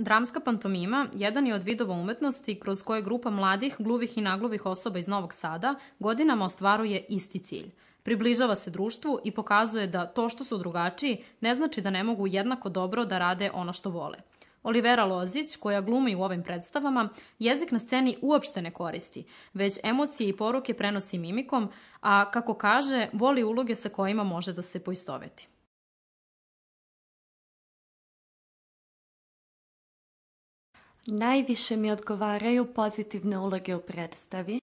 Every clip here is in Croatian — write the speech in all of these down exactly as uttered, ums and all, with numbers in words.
Dramska pantomima jedan je od vidova umetnosti kroz koje grupa mladih, gluvih i nagluvih osoba iz Novog Sada godinama ostvaruje isti cilj. Približava se društvu i pokazuje da to što su drugačiji ne znači da ne mogu jednako dobro da rade ono što vole. Olivera Lozić, koja glumi u ovim predstavama, jezik na sceni uopšte ne koristi, već emocije i poruke prenosi mimikom, a kako kaže, voli uloge sa kojima može da se poistoveti. Najviše mi odgovaraju pozitivne uloge u predstavi.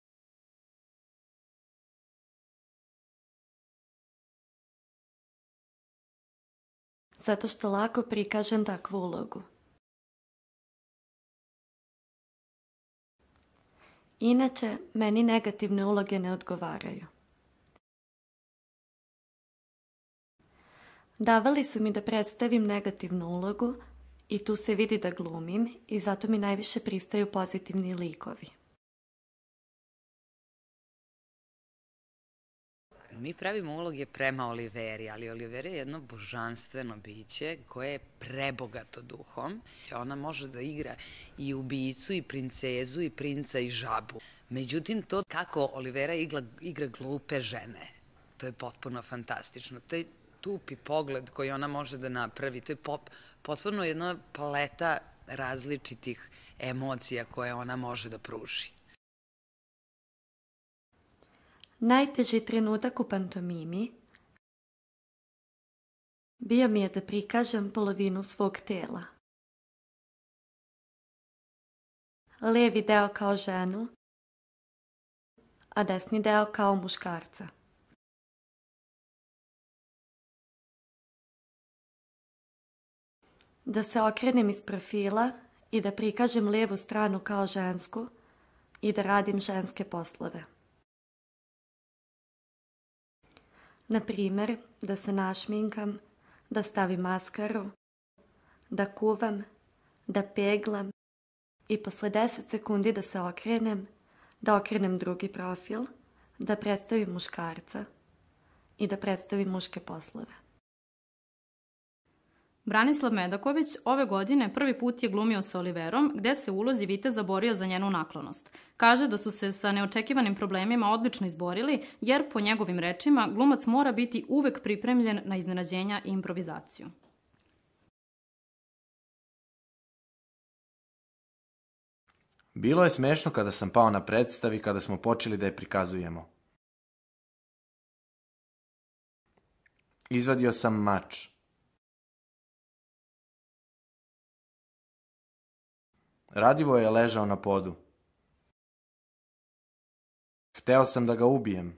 Zato što lako prikažem takvu ulogu. Inače, meni negativne uloge ne odgovaraju. Davali su mi da predstavim negativnu ulogu i tu se vidi da glumim i zato mi najviše pristaju pozitivni likovi. Mi pravimo uloge prema Oliveri, ali Olivera je jedno božanstveno biće koje je prebogato duhom. Ona može da igra i ubijicu, i princezu, i princa, i žabu. Međutim, to kako Olivera igra, igra glupe žene, to je potpuno fantastično. Taj tupi pogled koji ona može da napravi, to je pop, potpuno jedna paleta različitih emocija koje ona može da pruži. Najteži trenutak u pantomimi bio mi je da prikažem polovinu svog tela. Levi deo kao ženu, a desni deo kao muškarca. Da se okrenem iz profila i da prikažem levu stranu kao žensku i da radim ženske poslove. Na primer, da se našminkam, da stavim maskaru, da kuvam, da peglam i posle deset sekundi da se okrenem, da okrenem drugi profil, da predstavim muškarca i da predstavim muške poslove. Branislav Medaković ove godine prvi put je glumio sa Oliverom, gde se u ulozi viteza borio za njenu naklonost. Kaže da su se sa neočekivanim problemima odlično izborili, jer po njegovim rečima glumac mora biti uvek pripremljen na iznenađenja i improvizaciju. Bilo je smešno kada sam pao na predstavi, kada smo počeli da je prikazujemo. Izvadio sam mač. Radivoje je ležao na podu. Hteo sam da ga ubijem.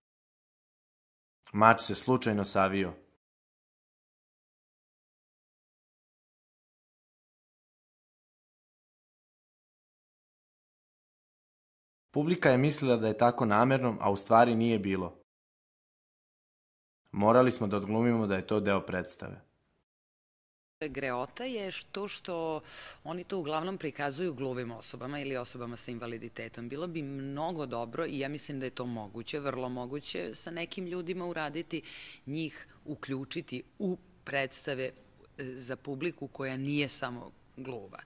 Mač se slučajno savio. Publika je mislila da je tako namerno, a u stvari nije bilo. Morali smo da odglumimo da je to deo predstave. Greota je to što oni to uglavnom prikazuju gluvim osobama ili osobama sa invaliditetom. Bilo bi mnogo dobro i ja mislim da je to moguće, vrlo moguće sa nekim ljudima uraditi, njih uključiti u predstave za publiku koja nije samo gluva.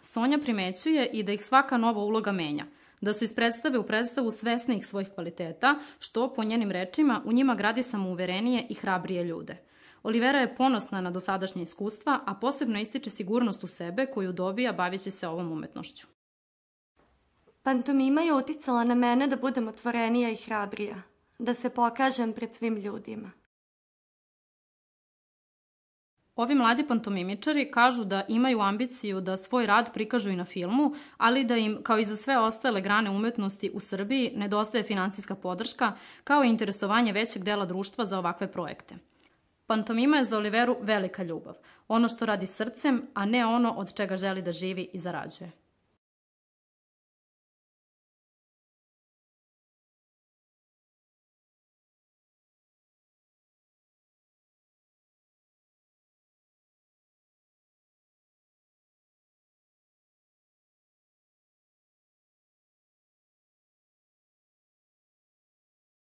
Sonja primećuje i da ih svaka nova uloga menja, da su iz predstave u predstavu svesnih svojih kvaliteta, što, po njenim rečima, u njima gradi samouverenije i hrabrije ljude. Olivera je ponosna na dosadašnje iskustva, a posebno ističe sigurnost u sebe koju dobija baveći se ovom umetnošću. Pantomima je uticala na mene da budem otvorenija i hrabrija, da se pokažem pred svim ljudima. Ovi mladi pantomimičari kažu da imaju ambiciju da svoj rad prikažu i na filmu, ali da im, kao i za sve ostale grane umetnosti u Srbiji, nedostaje finansijska podrška, kao i interesovanje većeg dela društva za ovakve projekte. Pantomima je za Oliveru velika ljubav, ono što radi srcem, a ne ono od čega želi da živi i zarađuje.